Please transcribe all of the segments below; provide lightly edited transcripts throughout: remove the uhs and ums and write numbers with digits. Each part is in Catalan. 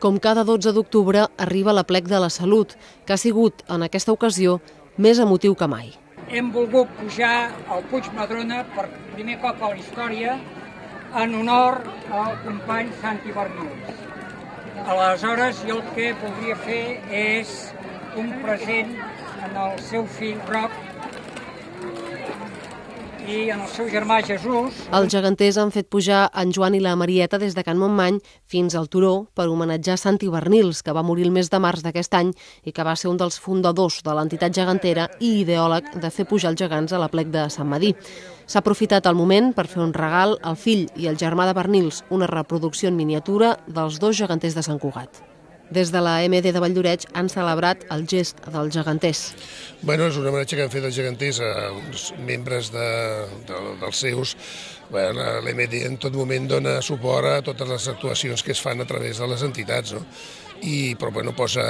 Com cada 12 d'octubre arriba l'aplec de la Salut, que ha sigut, en aquesta ocasió, més emotiu que mai. Hem volgut pujar al Puig Madrona per primer cop a la història en honor al company Santi Bernils. Aleshores, jo el que voldria fer és un present en el seu fill Roc i en el seu germà Jesús. Els geganters han fet pujar en Joan i la Marieta des de Can Montmany fins al turó per homenatjar Santi Bernils, que va morir el mes de març d'aquest any i que va ser un dels fundadors de l'entitat gegantera i ideòleg de fer pujar els gegants a l'aplec de Sant Medir. S'ha aprofitat el moment per fer un regal al fill i al germà de Bernils, una reproducció en miniatura dels dos geganters de Sant Cugat. Des de la MD de Valldoreix han celebrat el gest dels geganters. És un homenatge que han fet els geganters a uns membres dels seus. L'MD en tot moment dona suport a totes les actuacions que es fan a través de les entitats, no? Però posa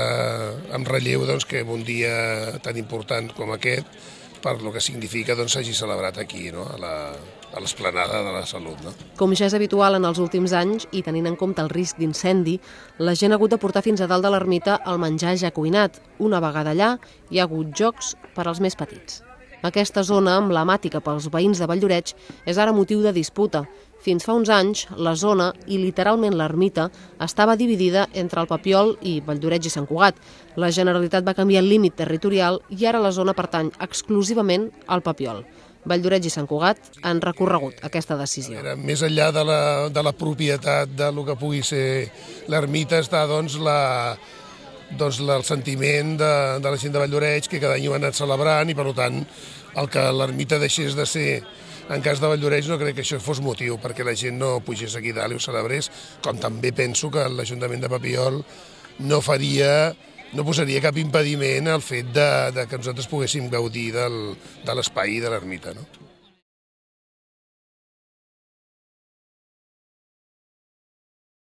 en relleu que un dia tan important com aquest, per lo que significa, s'hagi celebrat aquí, no? A l'esplanada de la Salut. No? Com ja és habitual en els últims anys, i tenint en compte el risc d'incendi, la gent ha hagut de portar fins a dalt de l'ermita el menjar ja cuinat. Una vegada allà hi ha hagut jocs per als més petits. Aquesta zona, emblemàtica pels veïns de Valldoreix, és ara motiu de disputa. Fins fa uns anys, la zona, i literalment l'ermita, estava dividida entre el Papiol i Valldoreix i Sant Cugat. La Generalitat va canviar el límit territorial i ara la zona pertany exclusivament al Papiol. Valldoreix i Sant Cugat han recorregut aquesta decisió. Més enllà de la propietat del que pugui ser l'ermita està el sentiment de la gent de Valldoreix, que cada any ho han anat celebrant i per tant el que l'ermita deixés de ser en cas de Valldoreix no crec que això fos motiu perquè la gent no pugés aquí dalt i ho celebrés, com també penso que l'Ajuntament de Papiol no posaria cap impediment al fet que nosaltres poguéssim gaudir de l'espai de l'ermita. No?